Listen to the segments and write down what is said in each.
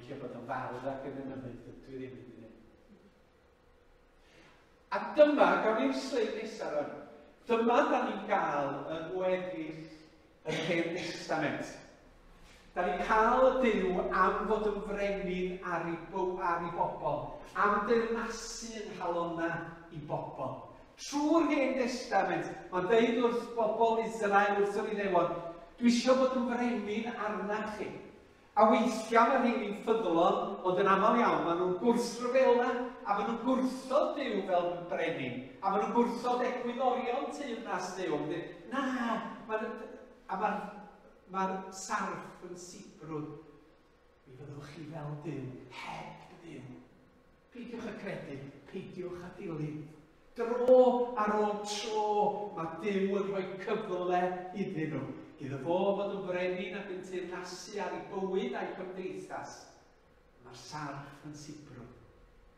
licio bod yn fardd ac yn emynydd, dwi ddim yn gwneud. A dyma, gawn ni'r sleid nesaf rwan, dyma da ni'n gael yng ngweddill yr Hen Testament. Da ni'n cael y Duw am fod yn frenin ar ei, ar ei bobl, am deyrnasu yng nghalonnau i bobl. Trwy'r Hen Destament, mae'n deud wrth bobl Israel, wrth yr Iddewon, dwi eisiau bod yn frenin arnach chi. A weithiau mae rheini'n ffyddlon, ond yn aml iawn maen nhw'n gwrthryfela, a maen nhw'n gwrthod Duw fel brenin, a maen nhw'n gwrthod egwyddorion teyrnas Duw. Maen nhw'n dweud, na, maen, a mae'r mae sarff yn sibrwd. Mi fyddwch chi fel Duw, heb Dduw. Peidiwch â credu, peidiwch â dilyn. Dro ar ôl tro, mae Duw yn rhoi cyfle iddyn nhw. Iddo fo fod yn frenin ac yn teyrnasu ar ei bywyd a'i cymdeithas. Mae'r sarff yn sibrwd.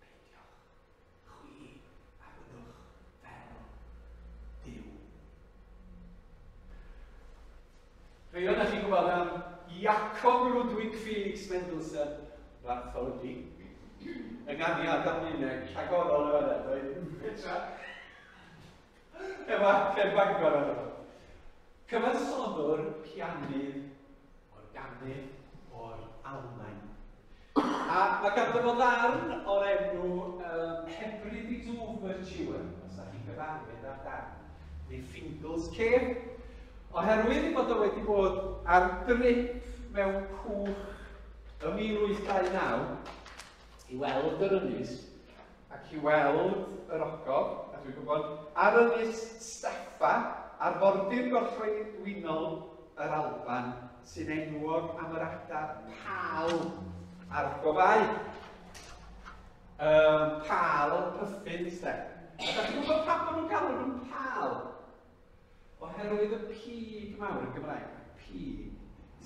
Peidiwch, chwi a fyddwch fel Duw. Rhai ohonoch chi'n gwybod am Jakob Ludwig Felix Mendelssohn Bartholdy. Ynganiad Almaeneg rhagorol yn fan'na, doedd? Petra. Efo acen Bangor arno fo. Cyfansoddwr, pianydd, organydd o'r Almaen. A mae ganddo fo ddarn o'r enw um, Hebrides Overture, os ydych chi'n gyfarwydd â'r darn, neu Fingal's Cave, oherwydd ei bod o wedi bod ar drip mewn cwch ym 1829 i weld yr ynys ac i weld yr ogof, a dwi'n gwybod, ar ynys Staffa, ar fordir gorllewinol yr Alban, sy'n enwog am yr adar pal a'r gofau. Um, pal, puffins, de. A da chi'n gwybod pam maen nhw'n galw nhw'n pal? Oherwydd y pig mawr yn Gymraeg, pig,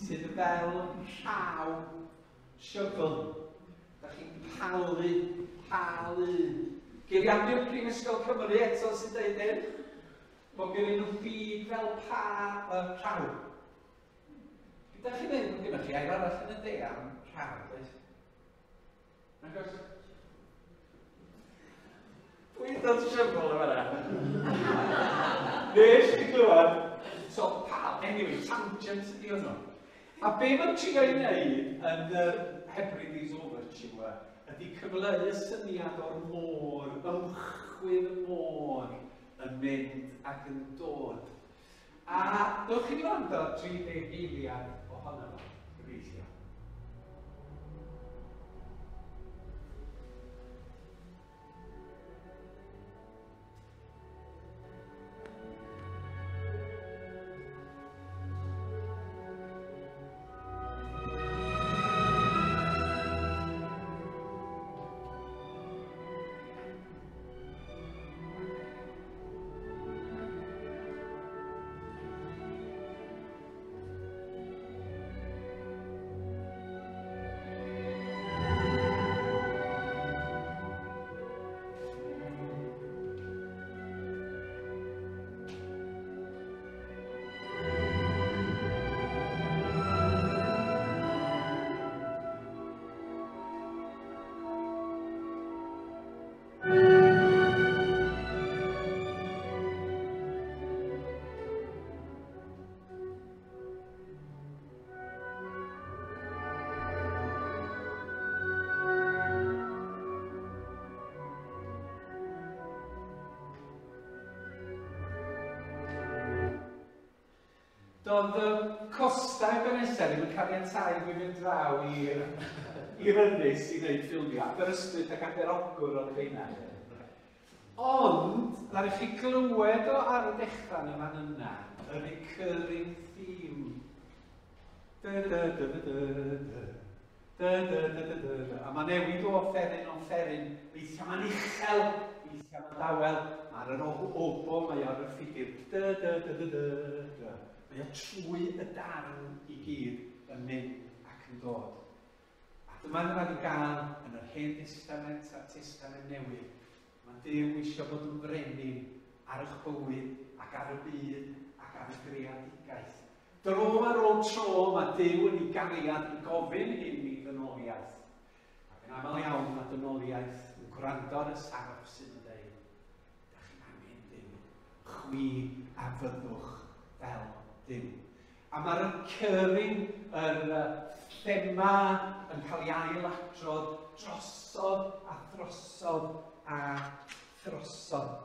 sydd fel rhaw shovel. Da chi'n palu, palu. Geiriadur Prifysgol Cymru eto sy'n dweud hyn. Bod gen nhw big fel pa, rhaw. Gyda chi'n dweud bod gennych chi air arall yn y de am rhaw, does? Nag oes? Dwi'n dod syfl yma na. Nes i glywed. So, pal, anyway, tangent ydi hwnnw. A be mae'n trio ei wneud yn yr Hebrides Overture ydy cyfleu y syniad o'r môr, ymchwydd y môr yn mynd ac yn dod. A dewch i ni wrando ar 30 eiliad ohono fo, gobeithio. Doedd y costau Ebenezer ddim yn caniatáu i fi fynd draw i'r i'r ynys i wneud ffilmiau. Aberystwyth ac Aberogwr oedd rheina. Ond, ddaru chi glywed o ar y dechrau yn y fan yna, y recurring theme. Dy dy dy dy dy dy. Dy dy dy dy dy dy. A mae newid o offeryn o offeryn. Weithiau mae'n uchel, weithiau mae'n dawel. Mae ar yr obo, mae ar y ffigur. Dy dy dy dy dy dy. Mae o trwy y darn i gyd yn mynd ac yn dod. A dyma ni wedi gael yn yr Hen Testament a'r Testament Newydd. Mae Duw eisiau bod yn frenin ar eich bywyd ac ar y byd ac ar y greadigaeth. Dro ar ôl tro mae Duw yn ei gariad yn gofyn hyn i ddynoliaeth. Ac yn aml iawn mae dynoliaeth yn gwrando ar y sarff sydd yn dweud, da chi'n angen Duw, chwi a fyddwch fel Duw. A mae'r recurring, yr thema yn cael ei ailadrodd drosodd a throsodd a throsodd.